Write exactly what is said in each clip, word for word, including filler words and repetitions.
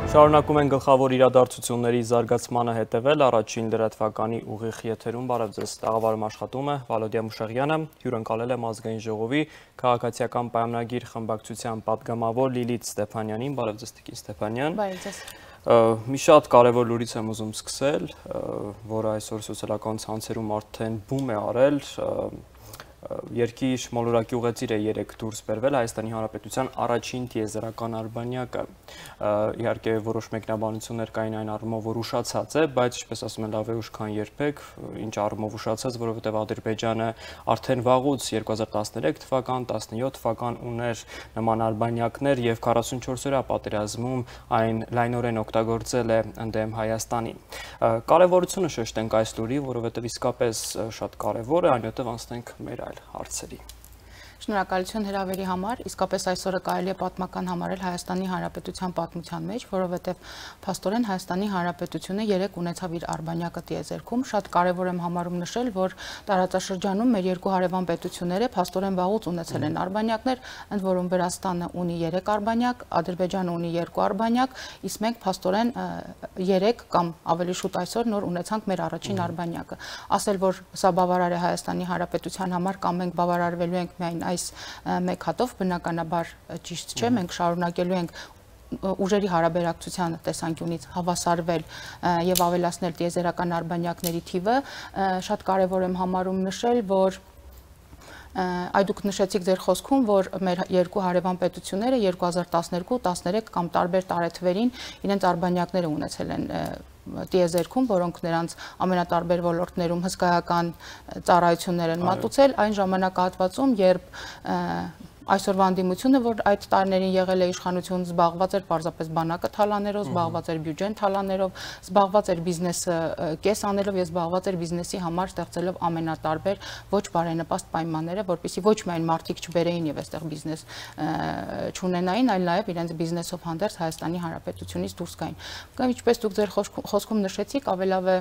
Շարունակում են գլխավոր իրադարձությունների զարգացմանը հետևել առաջին լրատվականի ուղիղ եթերում բարև ձեզ տաղավարում աշխատում է Վալոդիա Մուշեղյանը, հյուրընկալել եմ ազգային ժողովի քաղաքացիական պայմանագիր խմբակցության պատգամավոր Լիլիթ Ստեփանյանին, բարև ձեզ Տիկին Ստեփանյան։ Բարև ձեզ։ Մի շատ կարևոր լուրից եմ ուզում սկսել, որը այսօր սոցիալական ցանցերում արդեն բում է արել։ Երկիր մոլորակի ուղեծիր է երեք դուրս բերվել Հայաստանի Հանրապետության առաջին տիեզերական արբանյակը։ Իհարկե որոշ մեկնաբանություններ կային այն առումով, որ ուշացած է, բայց ինչպես ասում են լավ է ուշ քան երբեք, ինչ առումով ուշացած, որովհետև Ադրբեջանը արդեն վաղուց երկու հազար տասներեք թվական, տասնյոթ թվական ուներ նման արբանյակներ եւ քառասունչորս օրյա պատերազմում այն լայնորեն օգտագործել է ընդդեմ Հայաստանի։ Կարևորությունը շեշտենք այս լուրի, որովհետև իսկապես շատ կարևոր է, այնուհետև անցնենք մեր այլ հարցերի։ Շնորհակալություն հրավերի համար, իսկապես այսօրը կարելի է պատմական համարել Հայաստանի Հանրապետության պատմության մեջ, որովհետև փաստորեն Հայաստանի Հանրապետությունը երեք ունեցավ իր արբանյակը տիեզերքում, շատ կարևոր եմ համարում նշել, որ տարածաշրջանում մեր երկու հարևան պետությունները փաստորեն վաղուց ունեցել են արբանյակներ, ընդ որում Վրաստանը ունի երեք արբանյակ, Ադրբեջանը ունի երկու արբանյակ, իսկ մենք փաստորեն երեք կամ ավելի շուտ այսօր նոր ունեցանք մեր առաջին արբանյակը։ Ասել, որ սա բավարար է Հայաստանի Հանրապետության համար կամ մենք բավարարվելու ենք միայն այս մեկ հատով բնականաբար ճիշտ չէ, մենք շարունակելու ենք ուժերի հարաբերակցության տեսանկյունից հավասարվել եւ ավելացնել տիեզերական արբանյակների թիվը, շատ կարեւոր եմ համարում նշել, որ Այ դուք նշեցիք ձեր խոսքում, որ մեր երկու հարևան պետությունները երկու հազար տասներկու տասներեք կամ տարբեր տարեթվերին իրենց արբանյակները ունեցել են տիեզերքում, որոնք նրանց ամենատարբեր ոլորտներում հսկայական ծառայություններ են մատուցել, այն ժամանակահատվածում, երբ այսօրվա ընդդիմությունը, որ այդ տարիներին եղել է իշխանություն, զբաղված էր պարզապես բանակը թալաներով, զբաղված էր բյուջեն թալաներով, զբաղված էր բիզնեսը կես անելով եւ զբաղված էր բիզնեսի համար ստեղծելով ամենատարբեր ոչ բարենպաստ պայմանները, որպեսզի ոչ միայն մարդիկ չբերեին եւ այստեղ բիզնես չունենային, այլ նաեւ իրենց բիզնեսով հանդերձ Հայաստանի Հանրապետությունից դուրս գային։ Կամ ինչպես դուք ձեր խոսքում նշեցիք, ավելավ է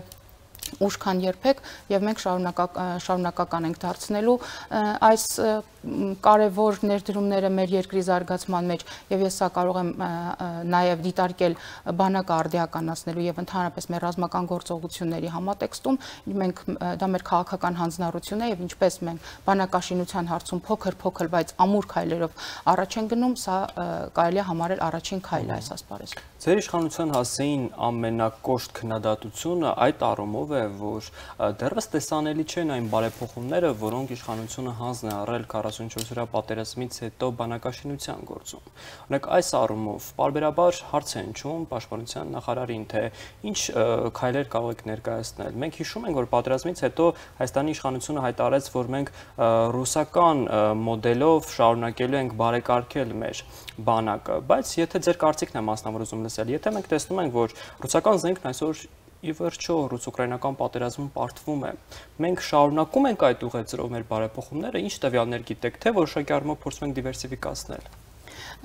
ուշ քան երբեք եւ մենք շարունակական ենք դարձնելու այս կարևոր ներդրումները մեր երկրի զարգացման մեջ եւ ես սա կարող եմ նաեւ դիտարկել բանակը արդիականացնելու եւ ընդհանրապես մեր ռազմական գործողությունների համատեքստում մենք դա մեր քաղաքական հանձնառություն է եւ ինչպես մենք բանակաշինության հարցում փոքր-փոքր բայց ամուր քայլերով առաջ են գնում, սա կարելի է համարել առաջին քայլը այս ասպարեզում։ Ձեր իշխանության հասցեին ամենակոշտ քննադատությունը այդ առումով է, որ դեռևս տեսանելի չեն այն բարեփոխումները, որոնք իշխանությունը հանձն է առել քառասունչորս օրյա պատերազմից հետո բանակաշինության գործում։ Օրինակ այս առումով պարբերաբար հարց է հնչում պաշտպանության նախարարին, թե ինչ քայլեր կարող եք ներկայացնել։ Մենք հիշում ենք, որ պատերազմից հետո Հայաստանի իշխանությունը հայտարարեց, որ մենք ռուսական մոդելով շարունակելու ենք բարեկարգել մեր բանակը, բայց եթե ձեր կարծիքն է մասնավոր ուզում լսել, եթե մենք տեսնում ենք, որ ռուսական զենքն այսօր ի վերջո ռուս-ուկրաինական պատերազմում պարտվում է, մենք շարունակում ենք այդ ուղեծրով մեր բարեփոխումները, ինչ տվյալներ գիտեք, թե որոշակի առումով փորձում ենք դիվերսիֆիկացնել։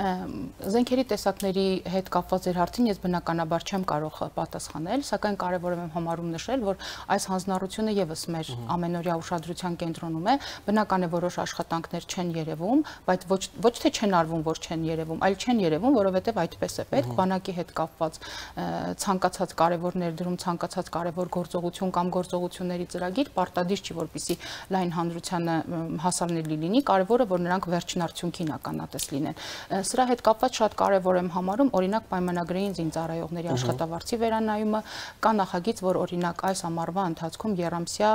Զենքերի տեսակների հետ կապված ձեր հարցին ես բնականաբար չեմ կարող պատասխանել, սակայն կարևոր եմ համարում նշել, որ այս հանձնառությունը եւս մեր ամենօրյա ուշադրության կենտրոնում է, բնական է որոշ աշխատանքներ չեն երևում, բայց ոչ ոչ թե չեն արվում, որ չեն երևում, այլ չեն երևում, որովհետեւ այդպես է պետք, բանակի հետ կապված ցանկացած կարևոր ներդրում, ցանկացած կարևոր գործողություն կամ գործողությունների ծրագիր պարտադիր չի, որպեսզի լայն հանրությանը հասանելի լինի, կարևորը որ նրանք վերջնարդյունքին ականատես լինեն։ Սրա հետ կապված շատ կարևոր եմ համարում օրինակ պայմանագրային զինծառայողների աշխատավարձի վերանայումը, կա նախագիծ, որ օրինակ այս ամառվա ընթացքում եռամսյա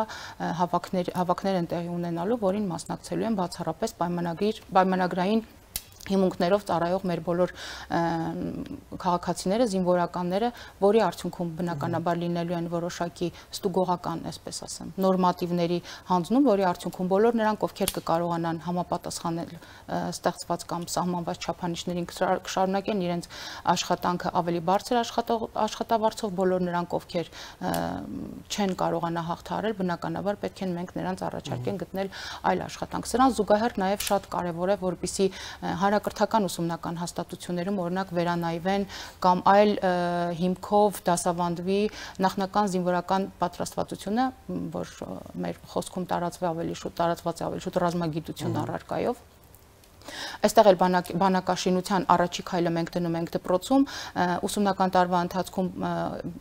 հավաքներ հավաքներ են տեղի ունենալու, որին մասնակցելու են բացառապես պայմանագրի պայմանագրային հիմունքներով ծառայող մեր բոլոր քաղաքացիները, զինվորականները, որի արդյունքում բնականաբար լինելու են որոշակի ստուգողական, այսպես ասեմ, նորմատիվների հանձնում, որի արդյունքում բոլոր նրանք, ովքեր կկարողանան համապատասխանել ստեղծված կամ սահմանված չափանիշներին, կշարունակեն իրենց աշխատանքը ավելի բարձր աշխատավարձով, բոլոր նրանք, ովքեր չեն կարողանա հաղթահարել, բնականաբար պետք է մենք նրանց առաջարկեն գտնել այլ աշխատանք։ Սրան զուգահեռ նաև շատ կարևոր է, որպեսզի հանրակրթական ուսումնական հաստատություններում օրինակ վերանայվեն կամ այլ հիմքով դասավանդվի նախնական զինվորական պատրաստվածությունը, որ մեր խոսքում տարածվի ավելի շուտ, տարածված է ավելի շուտ ռազմագիտություն առարկայով, Այստեղ էլ բանակաշինության առաջի քայլը մենք դնում ենք դպրոցում, ուսումնական տարվա ընթացքում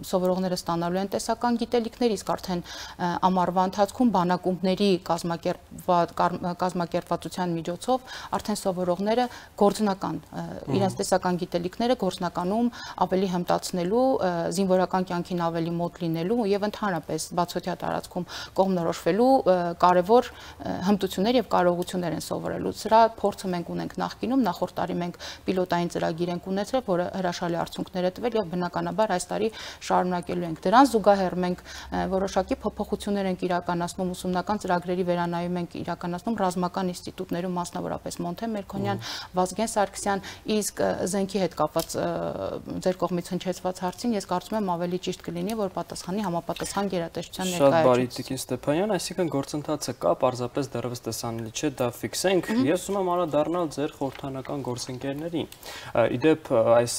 սովորողները ստանալու են տեսական գիտելիքներ, իսկ արդեն ամառվա ընթացքում բանակումների կազմակերպվածության միջոցով արդեն սովորողները գործնական իրենց տեսական գիտելիքները գործնականում ավելի հմտացնելու, զինվորական կյանքին ավելի մոտ լինելու եւ ընդհանրապես բացօթյա տարածքում կողմնորոշվելու կարևոր հմտություններ եւ կարողություններ են սովորելու։ Սրա փորձը մենք ունենք նախկինում, նախորդ տարի մենք պիլոտային ծրագիր ենք ունեցրել, որը հրաշալի արդյունքներ է տվել եւ բնականաբար այս տարի շարունակելու ենք։ Դրան զուգահեռ մենք որոշակի փոփոխություններ ենք իրականացնում, ուսումնական ծրագրերի վերանայում ենք իրականացնում ռազմական ինստիտուտներում, մասնավորապես Մոնթե Մերքոնյան, Վազգեն Սարգսյան, իսկ զենքի հետ կապված ձեր կողմից հնչեցված հարցին ես կարծում եմ ավելի ճիշտ կլինի, որ պատասխանի համապատասխան գերատեսչության ներկայացուցիչ։ Շատ բարի Տիկին Ստեփանյան, այսինքն գործընթացը կա, պարզապես դեռևս տեսանելի չէ, դա ֆիքսենք։ Ես ուզում եմ անդրադառնալ ձեր խորհրդանական գործընկերներին։ Իդեպ այս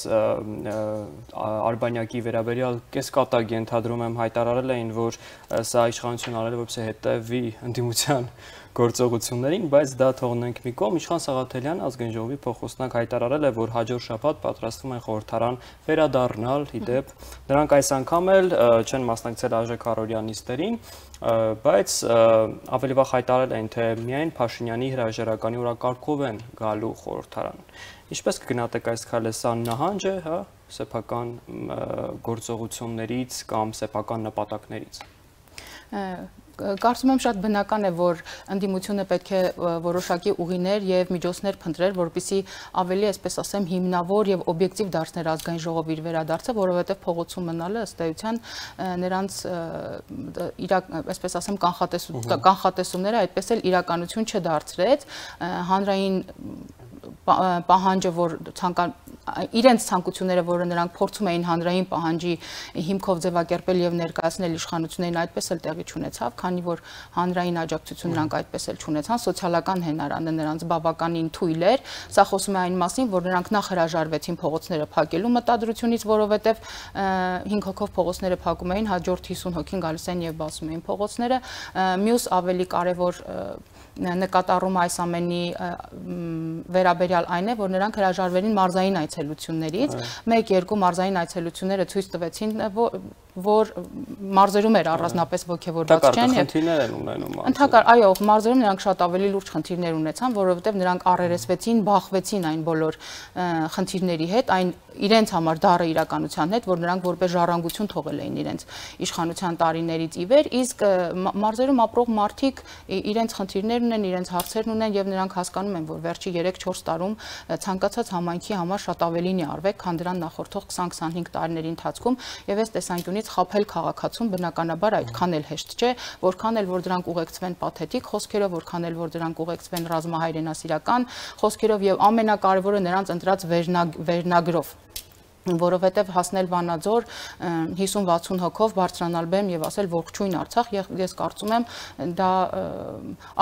Արբանյակի վերաբերյալ կեսկատակ ենթադրում եմ հայտարարել էին, որ սա իշխանություն արել է, որպեսզի հետևի ընդդիմության գործողություններին, բայց դա թողնենք մի կողմ։ Իշխան Սաղաթելյան ազգային ժողովի փոխոստնակ հայտարարել է, որ հաջորդ շաբաթ պատրաստվում են խորհրդարան վերադառնալ, իդեպ նրանք այս անգամ էլ չեն մասնակցել Արժե Քարորյանիստերին, բայց ավելի վաղ հայտարարել են, թե միայն Փաշինյանի հրաժարականի օրակարգով են գալու խորհրդարան։ Ինչպես կգնահատեք այս քայլը, սա նահանջ է, հա, սեփական գործողություններից կամ սեփական նպատակներից։ Կարծում եմ շատ բնական է, որ ընդդիմությունը պետք է որոշակի ուղիներ եւ միջոցներ փնտրեր, որպեսզի ավելի, այսպես ասեմ, հիմնավոր եւ օբյեկտիվ դարձներ ազգային ժողովի իր վերադարձը, որովհետեւ փողոցում մնալը ըստ էության նրանց այսպես ասեմ կանխատեսումները այդպես էլ իրականություն չդարձրեց, հանրային պահանջը, որ ցանկան իրենց ցանկությունները, որը նրանք փորձում էին հանրային պահանջի հիմքով ձևակերպել եւ ներկայացնել իշխանություններին, այդպես էլ տեղի չունեցավ, քանի որ հանրային աջակցություն նրանք այդպես էլ չունեցան, սոցիալական հենարանը նրանց բավականին թույլ էր։ Սա խոսում է այն մասին, որ նրանք նախ հրաժարվեցին փողոցները փակելու մտադրությունից, որովհետեւ հինգ հոգով փողոցները փակում էին, հաջորդ հիսուն հոգին գալիս են եւ բացում էին փողոցները։ Մյուս ավելի կարեւոր նկատառումը այս ամենի վերաբերյալ այն է, որ նրանք հրաժարվեցին մարզային այցելություններից, մեկ-երկու մարզային այցելությունները ցույց տվեցին, որ մարզերում էր առանձնապես ոգևորված չեն եւ խնդիրներ են ունենում։ Ընդհակառ, այո, մարզերում նրանք շատ ավելի լուրջ խնդիրներ ունեցան, որովհետեւ նրանք առերեսվեցին, բախվեցին այն բոլոր խնդիրների հետ, այն իրենց համար դառը իրականության հետ, որ նրանք որպես ժառանգություն թողել էին իրենց իշխանության տարիներից ի վեր, իսկ մարզերում ապրող մարդիկ իրենց խնդիրներն ունեն, իրենց հարցերն ունեն եւ նրանք հասկանում են, որ վերջի երեք-չորս տարում ցանկացած համայնքի համար շատ ավելին է արվել, քան դրան նախորդող քսան-քսանհինգ տարիների ընթացքում եւ այս տեսանկյունից խաբել քաղաքացուն բնականաբար այդքան էլ հեշտ չէ, որքան էլ որ դրանք ուղեկցվեն պաթետիկ խոսքերով, որքան էլ որ դրանք ուղեկցվեն ռազմահայրենասիրական խոսքերով եւ ամենակարևորը նրանց ընտրած վերնագրով, որովհետև հասնել Վանաձոր հիսուն-վաթսուն հոգով բարձրանալ բեմ եւ ասել ողջույն Արցախ, ես կարծում եմ դա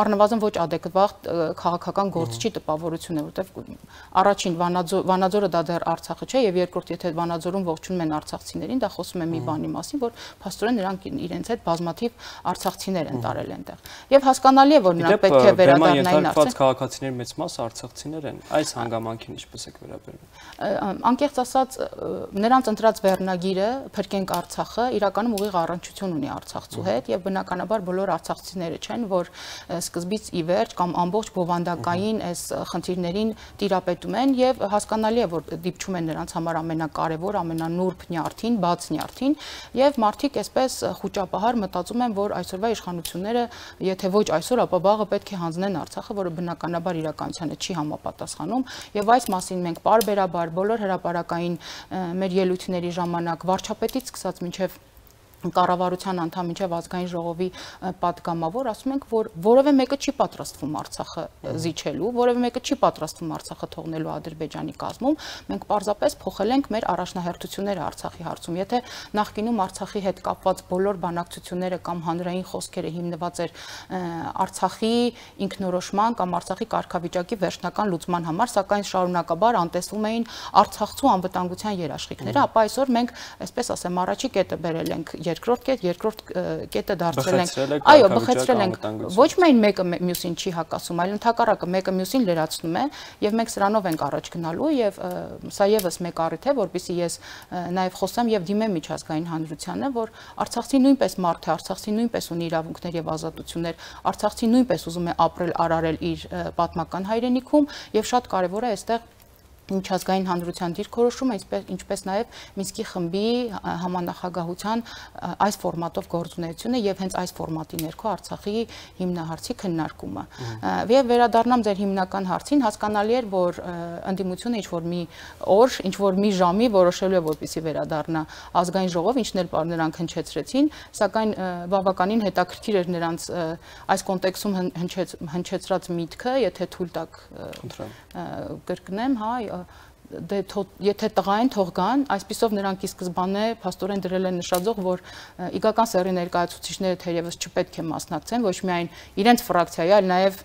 առնվազն ոչ adekvat քաղաքական գործչի տպավորություն է, որովհետև առաջին Վանաձորը դա դեռ Արցախը չէ եւ երկրորդ եթե Վանաձորում ողջունում են արցախցիներին, դա խոսում է մի բանի մասին, որ փաստորեն նրանք իրենց հետ բազմաթիվ արցախցիներ են տարել այնտեղ։ Եւ հասկանալի է, որ նրանք պետք է վերադառնային Արցախ։ Քաղաքացիների մեծ մասը արցախցիներ են։ Այս հանգամանքին ինչպես եք վերաբերվում։ Անկեղծ ասած նրանց ընտրած վերնագիրը Փրկենք Արցախը իրականում ուղիղ առնչություն ունի Արցախցու հետ եւ բնականաբար բոլոր արցախցիները չեն, որ սկզբից ի վերջ կամ ամբողջ բովանդակային այս խնդիրներին տիրապետում են եւ հասկանալի է, որ դիպչում են նրանց համար ամենակարևոր, ամենանուրբ նյարդին, բաց նյարդին եւ մարդիկ այսպես խոճապահար մտածում են, որ այսօրվա իշխանությունները, եթե ոչ այսօր, ապա վաղը պետք է հանձնեն Արցախը, որը բնականաբար իրականությանը չի համապատասխանում եւ այս մասին մենք պարբերաբար բոլոր հրապարակային մեր ելույթների ժամանակ վարչապետից սկսած մինչև կառավարության անդամ մինչև ազգային ժողովի պատգամավոր ասում ենք, որ որևէ մեկը չի պատրաստվում Արցախը զիջելու, որևէ մեկը չի պատրաստվում Արցախը թողնելու Ադրբեջանի կազմում, մենք պարզապես փոխել ենք մեր առաջնահերթությունները Արցախի հարցում։ Եթե նախկինում Արցախի հետ կապված բոլոր բանակցությունները կամ հանրային խոսքերը հիմնված էր Արցախի ինքնորոշման կամ Արցախի կարգավիճակի վերջնական լուծման համար, սակայն շարունակաբար անտեսվում էին Արցախցու անվտանգության երաշխիքները, ապա այսօր մենք, այսպես ասեմ, առաջի կետը բերել ենք երկրորդ կետ, երկրորդ կետը դարձրել ենք։ Այո, բխեցրել ենք։ Ոչ միայն մեկը մյուսին չի հակասում, այլ ընդհակառակը մեկը մյուսին լրացնում է, եւ մենք սրանով ենք առաջ գնալու եւ սա եւս մեկ առիթ է, որպեսզի ես նաեւ խոսեմ եւ դիմեմ միջազգային հանրությանը, որ Արցախցի նույնպես մարդ է, Արցախցի նույնպես ունի իրավունքներ եւ ազատություններ, Արցախցի նույնպես ուզում է ապրել, արարել իր պատմական հայրենիքում եւ շատ կարեւոր է այստեղ միջազգային հանրության դիրքորոշումը, ինչպես նաև Մինսկի խմբի համանախագահության այս ֆորմատով գործունեությունը եւ հենց այս ֆորմատի ներքո Արցախի հիմնահարցի քննարկումը։ Եվ վերադառնամ ձեր հիմնական հարցին, հասկանալի էր, որ ընդդիմությունը ինչ որ մի օր, ինչ որ մի ժամի որոշելու է, որպեսզի վերադառնա ազգային ժողով, ինչն էլ նրանք հնչեցրեցին, սակայն բավականին հետաքրքիր էր նրանց այս կոնտեքստում հնչեցրած միտքը, եթե թույլ տաք կրկնեմ, հա, դե եթե տղա են թող գան, այսպիսով նրանք ի սկզբանե փաստորեն դրել են նշաձող, որ իգական սեռի ներկայացուցիչները թերևս չպետք է մասնակցեն ոչ միայն իրենց ֆրակցիայի, այլ նաև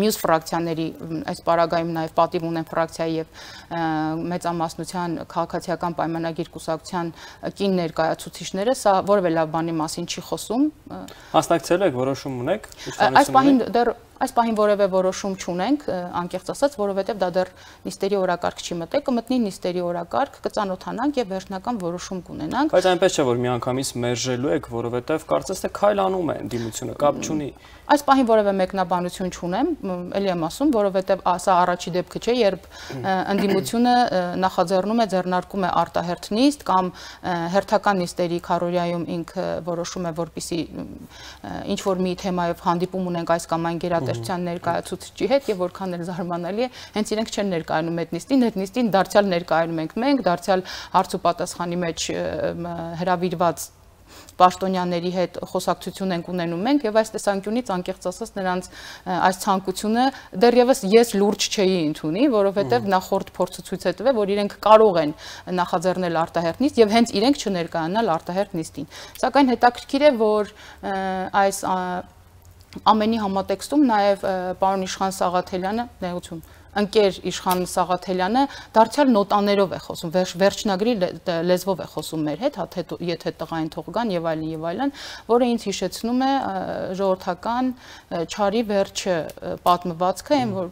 մյուս ֆրակցիաների այս պարագայում նաև պատիվ ունեն ֆրակցիայի եւ մեծամասնության քաղաքացիական պայմանագիր կուսակցության կին ներկայացուցիչները, սա որևէ լավ բանի մասին չի խոսում։ Մասնակցել եք, որոշում ունեք։ Այս պահին դեռ Այս պահին որևէ որոշում չունենք, անկեղծ ասած, որովհետև դա դեռ նիստերի օրակարգ չի մտել, կմտնի նիստերի օրակարգ, կծանոթանանք եւ վերջնական որոշում կունենանք։ Բայց այնպես չէ, որ միանգամից մերժելու եք, որովհետև կարծես թե քայլանում է ընդդիմությունը, կապ չունի։ Այս պահին որևէ մեկնաբանություն չունեմ, ելի եմ ասում, որովհետև սա առաջի դեպքը չէ, երբ ընդդիմությունը նախաձեռնում է, ձեռնարկում է արտահերթ նիստ կամ հերթական նիստերի քարոզիայում ինքը որոշում է, որպեսզի ինչ որ մի թեմայով հանդիպում ունենք այս կամ այն գերատեսչության ներկայացուցիչի հետ եւ որքան էլ զարմանալի է, հենց իրենք չեն ներկայանում այդ նիստին, այդ նիստին դարձյալ ներկայանում ենք մենք, դարձյալ հարց ու պատասխանի մեջ հրավիրված պաշտոնյաների հետ խոսակցություն ենք ունենում մենք եւ այս տեսանկյունից անկեղծ ասած նրանց այս ցանկությունը դեռևս ես լուրջ չէի ընդունի, որովհետեւ նախորդ փորձը ցույց է տվել, որ իրենք կարող են նախաձեռնել արտահերթ նիստ եւ հենց իրենք չներկայանալ արտահերթ նիստին։ Սակայն հետաքրքիր է, որ այս ամենի համատեքստում նաև պարոն Իշխան Սաղաթելյանը, ներողություն, ընկեր Իշխան Սաղաթելյանը դարձյալ նոտաներով է խոսում, վերջնագրի լեզվով է խոսում մեր հետ, եթե տղային թող գան եւ այլն եւ այլն, որը ինձ հիշեցնում է ժողովրդական չարի վերջը պատմվածքը, այն որ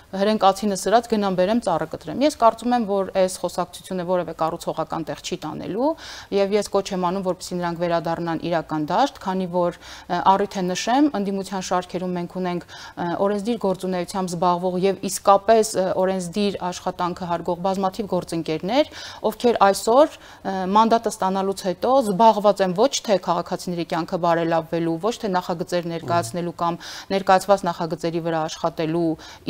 հրենկացինը սրած գնամ բերեմ ծառը կտրեմ։ Ես կարծում եմ, որ այս խոսակցությունը որևէ կառուցողական տեղ չի տանելու եւ ես կոչ եմ անում, որպեսզի նրանք վերադառնան իրական դաշտ, քանի որ առիթ է նշեմ, ընդդիմության շարքերում մենք ունենք օրենսդիր գործունեությամբ զբաղվող եւ իսկապես օրենսդիր աշխատանքը հարգող բազմաթիվ գործընկերներ, ովքեր այսօր մանդատը ստանալուց հետո զբաղված են ոչ թե քաղաքացիների կյանքը բարելավելու, ոչ թե նախագծեր ներկայացնելու կամ ներկայացված նախագծերի վրա աշխատելու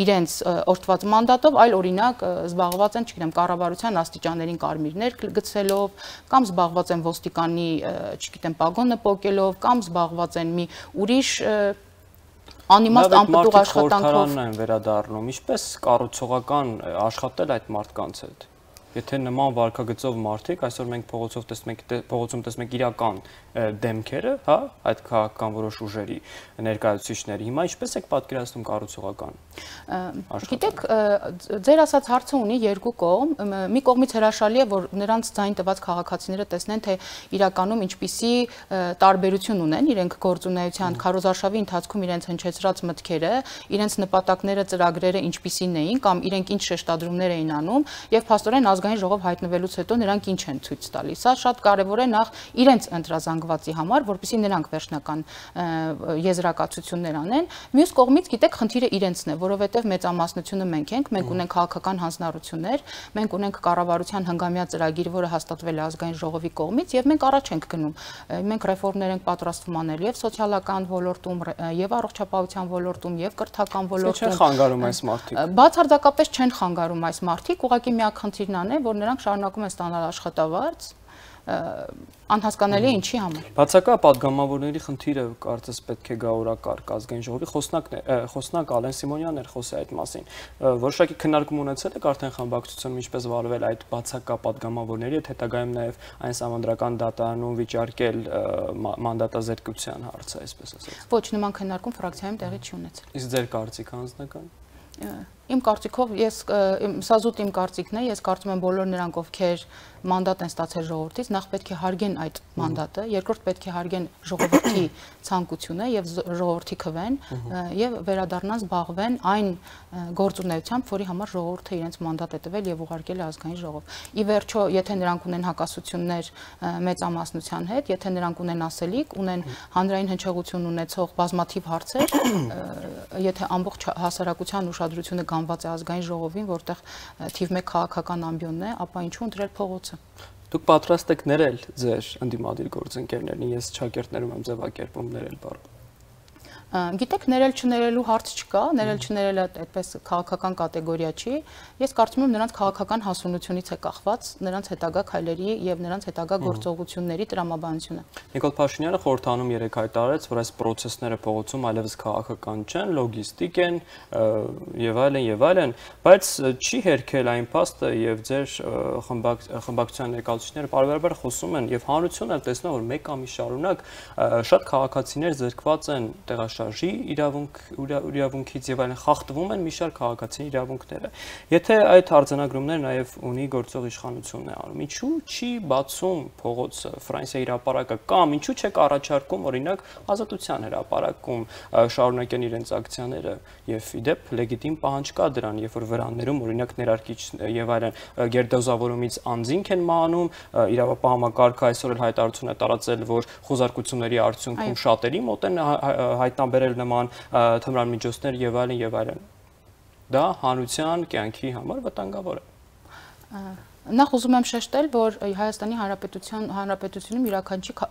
իրենց օրդված մանդատով, այլ օրինակ զբաղված են, չգիտեմ, կառավարության աստիճաններին կարմիրներ գցելով, կամ զբաղված են ոստիկանի, չգիտեմ, պագոնը պոկելով, կամ զբաղված են մի ուրիշ անիմաստ անպտուղ աշխատանքով են վերադառնում, ինչպես կառուցողական աշխատել այդ մարդկանց հետ։ Եթե նման վարկագծով մարդիկ, այսօր մենք փողոցով տեսնում ենք, փողոցում տեսնում ենք իրական դեմքերը, հա, այդ քաղաքական որոշ ուժերի ներկայացուցիչների։ Հիմա ինչպես եք պատկերացնում կառուցողական։ Գիտեք, ձեր ասած հարցը ունի երկու կողմ։ Մի կողմից հրաշալի է, որ նրանց ձայն տված քաղաքացիները տեսնեն, թե իրականում ինչպիսի տարբերություն ունեն իրենք գործունեության քարոզարշավի ընթացքում իրենց հնչեցրած մտքերը, իրենց նպատակները, ծրագրերը ինչպիսին էին կամ իրենք ինչ շեշտադրումներ էին անում եւ փաստորեն ազգային ժողով հայտնվելուց հետո նրանք ինչ են ցույց տալիս։ Սա շատ կարևոր է նախ իրենց ընտրազանգվածի համար, որպեսզի նրանք վերջնական եզրակացություններ անեն։ Մյուս կողմից, գիտեք, խնդիրը իրենցն է, որովհետև մեծամասնությունը մենք ենք, մենք ունենք քաղաքական հանձնառություններ, մենք ունենք կառավարության հնգամյա ծրագիր, որը հաստատվել է ազգային ժողովի կողմից եւ մենք առաջ ենք գնում։ Մենք ռեֆորմներ ենք պատրաստվում անել եւ սոցիալական ոլորտում, եւ առողջապահության ոլորտում, եւ կրթական ոլորտում։ Չեն խանգարում այս մարդիկ։ Բացարձակապես չեն խանգարում այս մարդիկ, ուղղակի միակ խնդիրն է, որ նրանք շարունակում են ստանալ աշխատավարձ, անհասկանալի է ինչի համար։ Բացակա падգամավորների խնդիրը կարծես պետք է գա օրակարգ ազգային ժողովի խոսնակն է, խոսնակ Ալեն Սիմոնյանն էր խոսել այդ մասին։ Որոշակի քննարկում ունեցել եք արդեն խմբակցությունում ինչպես վարվել այդ բացակա падգամավորների հետ, հետագայում նաև այն սահմանադրական դատարանում վիճարկել մանդատազրկության հարցը, այսպես ասած։ Ոչ, նման քննարկում ֆրակցիայում տեղի չի ունեցել։ Իսկ ձեր կարծիքը անձնական։ Իմ կարծիքով ես սա զուտ իմ կարծիքն է, ես կարծում եմ բոլոր նրանք, ովքեր մանդատ են ստացել ժողովրդից, նախ պետք է հարգեն այդ մանդատը, երկրորդ պետք է հարգեն ժողովրդի ցանկությունը եւ ժողովրդի քվեն եւ վերադառնան զբաղվեն այն գործունեությամբ, որի համար ժողովուրդը իրենց մանդատ է տվել եւ ուղարկել է ազգային ժողով։ Ի վերջո, եթե նրանք ունեն հակասություններ մեծամասնության հետ, եթե նրանք ունեն ասելիք, ունեն հանրային հնչեղություն ունեցող բազմաթիվ հարցեր, եթե ամբողջ հասարակության ուշադրությունը գանված է ազգային ժողովին, որտեղ թիվ մեկ քաղաքական ամբիոնն է, ապա ինչու ընտրել փողոցը։ Դուք պատրաստ եք ներել ձեր ընդդիմադիր գործընկերներին, ես ճակերտներում եմ ձևակերպում ներել բառը։ Գիտեք, ներել չներելու հարց չկա, ներել չներելը այդպես քաղաքական կատեգորիա չի։ Ես կարծում եմ նրանց քաղաքական հասունությունից է կախված նրանց հետագա քայլերի եւ նրանց հետագա գործողությունների տրամաբանությունը։ Նիկոլ Փաշինյանը խորհրդանում երեկ հայտարարեց, որ այս process-ները փողոցում այլևս քաղաքական չեն, լոգիստիկ են եւ այլն եւ այլն, բայց չի հերքել այն փաստը եւ ձեր խմբակցության ներկայացուցիչները բարբերաբար խոսում են եւ հանրությունը տեսնում որ մեկ ամիս շարունակ շատ քաղաքացիներ զրկված են տեղաշարժի իրավունք իրավունքից եւ այլն խախտվում են մի շարք քաղաքացիների իրավունքները։ Եթե այդ արձանագրումները նաեւ ունի գործող իշխանությունն է անում, ինչու չի բացում փողոցը Ֆրանսիայի հրապարակը կամ ինչու չեք առաջարկում օրինակ Ազատության հրապարակում շարունակեն իրենց ակցիաները եւ իդեպ լեգիտիմ պահանջ կա դրան, երբ որ վրաններում օրինակ ներարկիչ եւ այլն գերդոզավորումից անձինք են մահանում, իրավապահ համակարգը այսօր էլ հայտարարություն է տարածել, որ խոզարկությունների արդյունքում շատերի մոտ են հայտնաբերել նման թմրամիջոցներ եւ այլն եւ այլն։ Դա հանրության կյանքի համար վտանգավոր է։ Նախ ուզում եմ շեշտել, որ Հայաստանի Հանրապետության Հանրապետությունում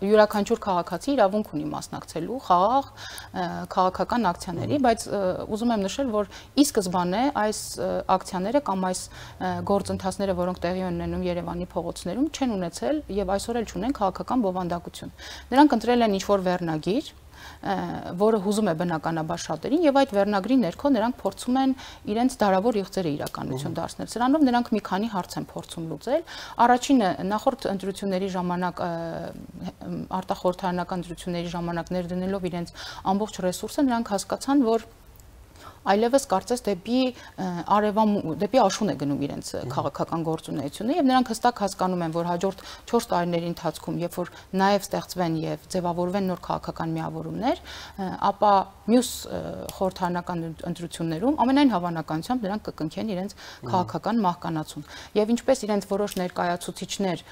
յուրաքանչյուր քաղաքացի իրավունք ունի մասնակցելու խաղաղ քաղաքական ակցիաների, բայց ուզում եմ նշել, որ ի սկզբանե այս ակցիաները կամ այս գործընթացները, որոնք տեղի են ունենում Երևանի փողոցներում, չեն ունեցել եւ այսօր էլ չունեն քաղաքական բովանդակություն։ Նրանք ընտրել են ինչ-որ վերնագիր, որը հուզում է բնականաբար շատերին եւ այդ վերնագրի ներքո նրանք փորձում են իրենց դարավոր իղձերը իրականություն դարձնել։ Սրանով նրանք մի քանի հարց են փորձում լուծել։ Առաջինը նախորդ ընտրությունների ժամանակ արտախորհրդարանական ընտրությունների ժամանակ ներդնելով իրենց ամբողջ ռեսուրսը նրանք հասկացան, որ այլևս կարծես դեպի արևամ դեպի աշուն է գնում իրենց քաղաքական գործունեությունը եւ նրանք հստակ հասկանում են, որ հաջորդ չորս տարիների ընթացքում, երբ որ նաեւ ստեղծվեն եւ ձևավորվեն նոր քաղաքական միավորումներ, ապա մյուս խորհրդարանական ընտրություններում ամենայն հավանականությամբ նրանք կկնքեն իրենց քաղաքական մահկանացուն։ Եվ ինչպես իրենց որոշ ներկայացուցիչներ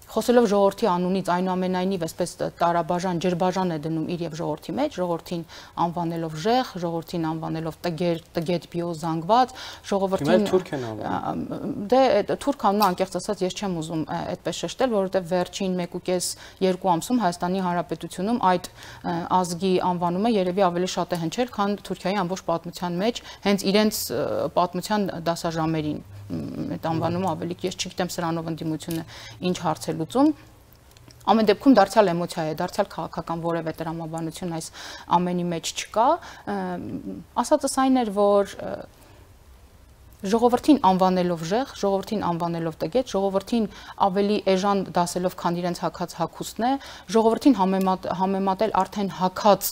խոսելով ժողովրդի անունից այնուամենայնիվ այսպես տարաբաժան ջրբաժան է դնում իր եւ ժողովրդի մեջ, ժողովրդին անվանելով ժեղ, ժողովրդին անվանելով տգեր, տգետ բիո զանգված, ժողովրդին թուրք են անվանում։ Դե թուրք անունը անկեղծ ասած ես չեմ ուզում այդպես շեշտել, որովհետեւ վերջին մեկ ու կես երկու ամսում Հայաստանի Հանրապետությունում այդ ազգի անվանումը երևի ավելի շատ է հնչել, քան Թուրքիայի ամբողջ պատմության մեջ հենց իրենց պատմության դասաժամերին այդ անվանումը ավելի ես չգիտեմ սրանով ընդդիմությունը ինչ հարց է լուծում։ Ամեն դեպքում դարձյալ էմոցիա է, դարձյալ քաղաքական որևէ տրամաբանություն այս ամենի մեջ չկա։ Ասածս այն էր, որ ժողովրդին անվանելով ժեղ, ժողովրդին անվանելով տգետ, ժողովրդին ավելի էժան դասելով, քան իրենց հակած հագուստն է, ժողովրդին համեմատել արդեն հակած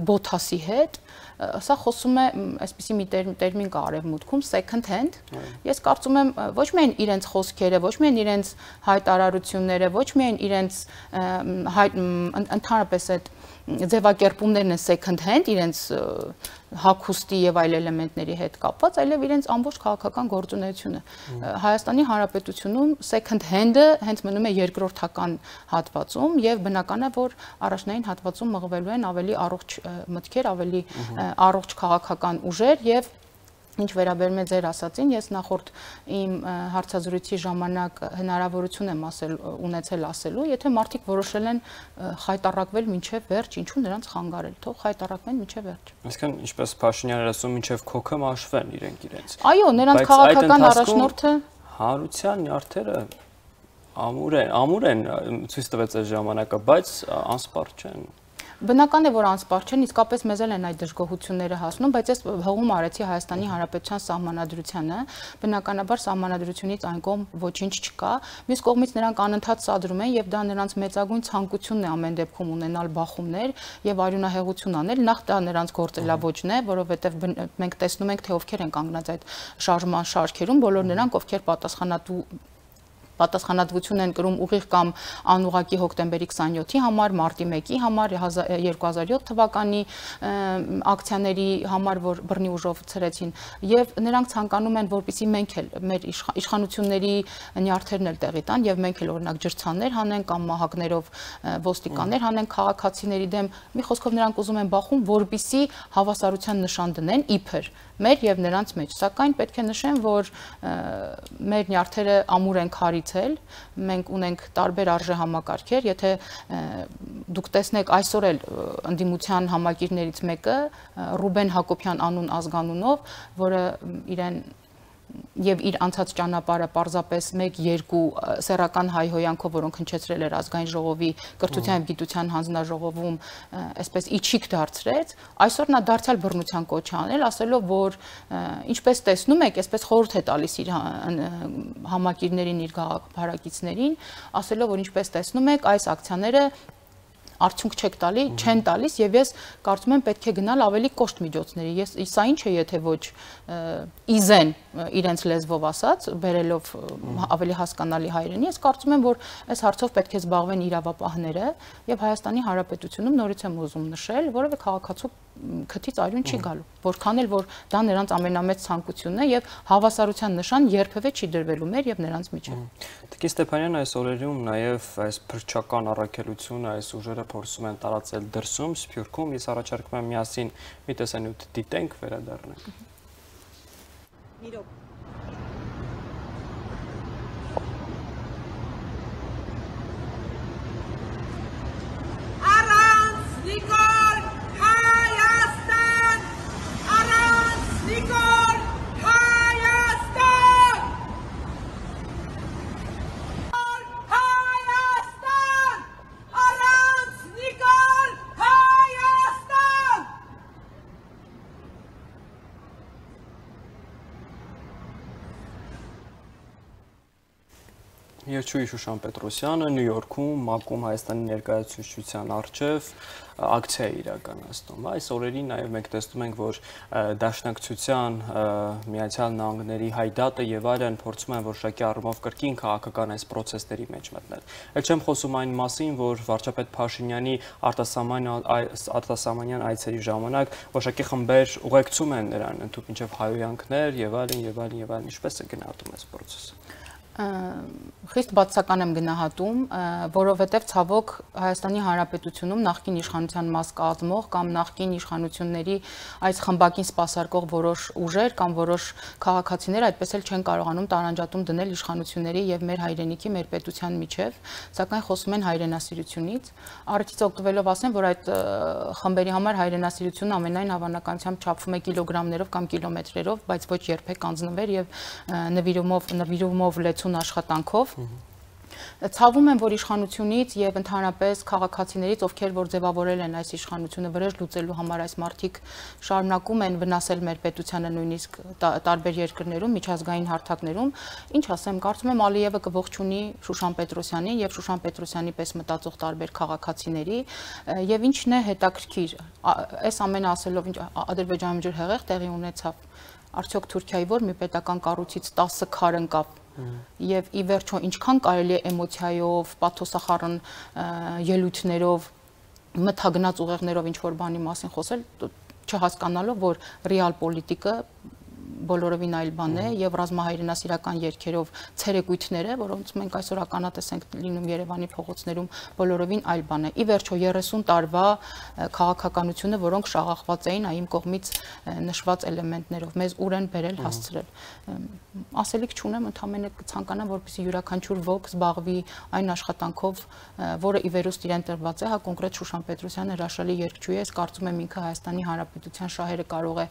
բոթասի հետ, սա խոսում է այսպիսի մի տերմին կա արևմուտքում second hand։ Ես կարծում եմ ոչ միայն իրենց խոսքերը, ոչ միայն իրենց հայտարարությունները, ոչ միայն իրենց ընդհանրապես այդ ձևակերպումներն են second hand իրենց հագուստի եւ այլ էլեմենտների հետ կապված, այլև իրենց ամբողջ քաղաքական գործունեությունը։ Հայաստանի Հանրապետությունում second hand-ը հենց մնում է երկրորդական հատվածում եւ բնական է, որ առաջնային հատվածում մղվելու են ավելի առողջ մտքեր, ավելի առողջ քաղաքական ուժեր եւ ինչ վերաբերում է ձեր ասածին, ես նախորդ իմ հարցազրույցի ժամանակ հնարավորություն եմ ասել ունեցել ասելու, եթե մարդիկ որոշել են խայտառակվել մինչև վերջ, ինչու նրանց խանգարել, թող խայտառակվեն մինչև վերջ։ Այսինքն, ինչպես Փաշինյանը ասում, մինչև քոքը մաշվեն իրենք իրենց։ Այո, նրանց քաղաքական առաջնորդը հանրության նյարդերը ամուր են, ամուր են ցույց տվեց այս ժամանակը, բայց անսպառ չեն։ Բնական է, որ անսպառ չեն, իսկապես մեզ էլ են այդ դժգոհությունները հասնում, բայց ես հողում արեցի Հայաստանի Հանրապետության սահմանադրությանը, բնականաբար սահմանադրությունից այն կողմ ոչինչ չկա, մյուս կողմից նրանք անընդհատ սադրում են եւ դա նրանց մեծագույն ցանկությունն է ամեն դեպքում ունենալ բախումներ եւ արյունահեղություն անել, նախ դա նրանց գործելավոճն է, որովհետեւ մենք տեսնում ենք, թե ովքեր են կանգնած այդ շարժման շարքերում, բոլոր նրանք, ովքեր պատասխանատու պատասխանատվություն են կրում ուղիղ կամ անուղղակի հոկտեմբերի քսաներկի համար, մարտի մեկի համար, երկու հազար յոթ թվականի ակցիաների համար, որ բռնի ուժով ցրեցին, եւ նրանք ցանկանում են, որպեսզի մենք էլ մեր իշխանությունների նյարդերն էլ տեղի տան եւ մենք էլ օրինակ ջրցաններ հանենք կամ մահակներով ոստիկաններ հանենք քաղաքացիների դեմ, մի խոսքով նրանք ուզում են բախում, որպեսզի հավասարության նշան դնեն իբր մեր եւ նրանց մեջ, սակայն պետք է նշեմ, որ մեր նյարդերը ամուր են քարիցել, մենք ունենք տարբեր արժե համակարգեր, եթե դուք տեսնեք այսօր էլ ընդդիմության համակիրներից մեկը Ռուբեն Հակոբյան անուն ազգանունով, որը իրեն եւ իր անցած ճանապարհը պարզապես մեկ երկու սեռական հայհոյանքով, որոնք հնչեցրել էր ազգային ժողովի կրթության եւ գիտության հանձնաժողովում, այսպես իջիկ դարձրեց, այսօր նա դարձյալ բռնության կոչ անել, ասելով, որ ինչպես տեսնում եք, այսպես խորհուրդ է տալիս իր համակիրներին, իր գաղափարակիցներին, ասելով, որ ինչպես տեսնում եք, այս ակցիաները արդյունք չեք տալի, չեն տալիս եւ ես կարծում եմ պետք է գնալ ավելի կոշտ միջոցների։ Ես սա ինչ է, եթե ոչ իզեն իրենց լեզվով ասած, բերելով ավելի հասկանալի հայերենի, ես կարծում եմ, որ այս հարցով պետք է զբաղվեն իրավապահները եւ Հայաստանի Հանրապետությունում նորից եմ ուզում նշել, որովհետեւ քաղաքացու քթից արյուն չի գալու, որքան էլ որ դա նրանց ամենամեծ ցանկությունն է եւ հավասարության նշան երբևէ չի դրվելու մեր եւ նրանց միջեւ։ Տիկին Ստեփանյան, այս օրերում նաեւ այս փրկչական առաքելությունը, այս ուժերը փորձում են տարածել դրսում, Սփյուռքում, ես առաջարկում եմ միասին մի տեսանյութ դիտենք, վերադառնանք։ Իրոք Երջուի Շուշան Պետրոսյանը Նյու Յորքում ՄԱԿ-ում Հայաստանի ներկայացուցչության առջև ակցիա է իրականացնում։ Այս օրերին նաև մենք տեսնում ենք, որ Դաշնակցության, Միացյալ Նահանգների հայդատը եւ այլն փորձում են որոշակի առումով կրկին քաղաքական այս process-ների մեջ մտնել։ Էլ չեմ խոսում այն մասին, որ վարչապետ Փաշինյանի արտասահմանյան այցերի ժամանակ որոշակի խմբեր ուղեկցում են նրան, ընդհանուր մինչև հայհոյանքներ եւ այլն եւ այլն եւ այլն, ինչպես է գնահատում այս process-ը։ Խիստ բացական եմ գնահատում, որովհետև ցավոք Հայաստանի Հանրապետությունում նախկին իշխանության մաս կազմող կամ նախկին իշխանությունների այս խմբակին սպասարկող որոշ ուժեր կամ որոշ քաղաքացիներ այդպես էլ չեն կարողանում տարանջատում դնել իշխանությունների եւ մեր հայրենիքի, մեր պետության միջև, սակայն խոսում են հայրենասիրությունից։ Առիթից օգտվելով ասեմ, որ այդ խմբերի համար հայրենասիրությունը ամենայն հավանականությամբ չափվում է կիլոգրամներով կամ կիլոմետրերով, բայց ոչ երբեք անձնվեր եւ նվիրումով նվիրումով լեցուն աշխատանքով։ Ցավում եմ, որ իշխանությունից եւ ընդհանրապես քաղաքացիներից, ովքեր որ ձևավորել են այս իշխանությունը վրեժ լուծելու համար, այս մարդիկ շարունակում են վնասել մեր պետությանը նույնիսկ տարբեր երկրներում, միջազգային հարթակներում, ինչ ասեմ, կարծում եմ Ալիևը կողջունի Շուշան Պետրոսյանին եւ Շուշան Պետրոսյանի պես մտածող տարբեր քաղաքացիների եւ ինչն է հետաքրքիր, այս ամենը ասելով ինչ Ադրբեջանում ջրհեղեղ տեղի ունեցավ, արդյոք Թուրքիայի որ մի պետական կառույցից տասը քար ընկավ եւ ի վերջո ինչքան կարելի է էմոցիայով, պաթոսախառն ելույթներով, մթագնաց ուղեղներով ինչ որ բանի մասին խոսել, չհասկանալով, որ ռեալ պոլիտիկը բոլորովին այլ բան է եւ ռազմահայրենասիրական երգերով ցերեկույթները, որոնց մենք այսօր ականատես ենք լինում Երևանի փողոցներում, բոլորովին այլ բան է։ Ի վերջո երեսուն տարվա քաղաքականությունը, որոնք շաղախված էին այ իմ կողմից նշված էլեմենտներով, մեզ ուր են բերել, հասցրել։ Ասելիք չունեմ, ընդհանրապես կցանկանամ, որպեսզի յուրաքանչյուր ոք զբաղվի այն աշխատանքով, որը ի վերուստ իրեն տրված է, հա կոնկրետ Շուշան Պետրոսյանը հրաշալի երգչուհի է, կարծում եմ ինքը Հայաստանի Հանրապետության շահերը կարող է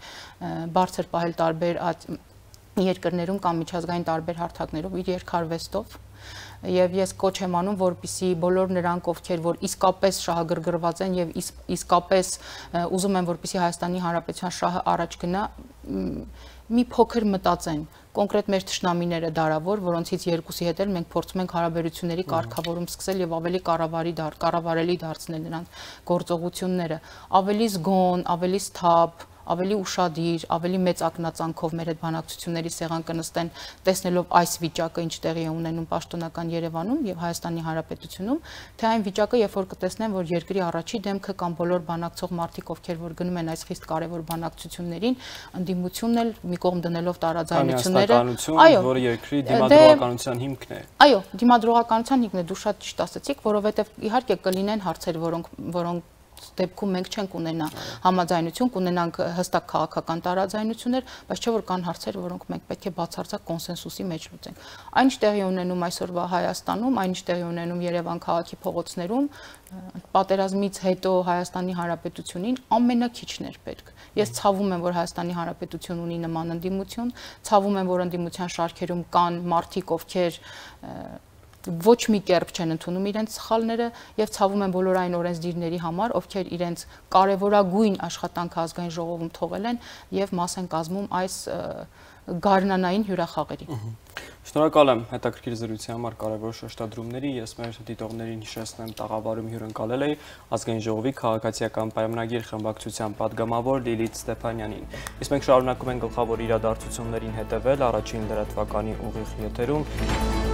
բարձր պահել տարբեր երկրներում կամ միջազգային տարբեր հարթակներով իր երկարվեստով Եվ ես կոչ եմ անում, որպեսզի բոլոր նրանք, ովքեր որ իսկապես շահագրգռված են եւ իսկապես ուզում են, որպեսզի Հայաստանի Հանրապետության շահը առաջ գնա, մի փոքր մտածեն կոնկրետ մեր թշնամիները դարավոր, որոնցից երկուսի հետ էլ մենք փորձում ենք հարաբերությունների կարգավորում սկսել եւ ավելի կառավարի դար, կառավարելի դարձնել նրանց գործողությունները, ավելի զգոն, ավելի սթափ, ավելի ուշադիր, ավելի մեծ ակնածանքով մեր այդ բանակցությունների սեղան կնստեն, տեսնելով այս վիճակը ինչ տեղի է ունենում պաշտոնական Երևանում եւ Հայաստանի Հանրապետությունում, թե այն վիճակը, երբ որ կտեսնեն, որ երկրի առաջի դեմքը կամ բոլոր բանակցող մարդիկ, ովքեր որ գնում են այս խիստ կարևոր բանակցություններին, ընդդիմությունն էլ մի կողմ դնելով տարաձայնությունները, այո, որը երկրի դիմադրողականության հիմքն է։ Այո, դիմադրողականության հիմքն է, դու շատ ճիշտ ասացիք, որովհետեւ իհարկե կլինեն հարցեր, որոնք որոնք դեպքում մենք չենք ունենա համաձայնություն, կունենանք հստակ քաղաքական տարաձայնություններ, բայց չէ որ կան հարցեր, որոնք մենք պետք է բացարձակ կոնսենսուսի մեջ լուծենք։ Այնինչ տեղի ունենում այսօրվա Հայաստանում, այնինչ տեղի ունենում Երևան քաղաքի փողոցներում, պատերազմից հետո Հայաստանի Հանրապետությունին ամենակիչն էր պետք։ Ես ցավում եմ, որ Հայաստանի Հանրապետություն ունի նման ընդդիմություն, ցավում եմ, որ ընդդիմության շարքերում կան մարդիկ, ովքեր ոչ մի կերպ չեն ընդունում իրենց սխալները եւ ցավում են բոլոր այն օրենսդիրների համար, ովքեր իրենց կարևորագույն աշխատանքը ազգային ժողովում թողել են եւ մաս են կազմում այս գարնանային հյուրախաղերի։ Շնորհակալ եմ հետաքրքիր զրույցի համար, կարևոր շեշտադրումների։ Ես մեր դիտողներին հիշեցնեմ, տաղավարում հյուրընկալել էի ազգային ժողովի քաղաքացիական պայմանագիր խմբակցության падգամավոր Լիլիթ Ստեփանյանին։ Իսկ մենք շարունակում ենք գլխավոր իրադարձություններին հետևել առաջին լրատվականի ուղիղ եթերում։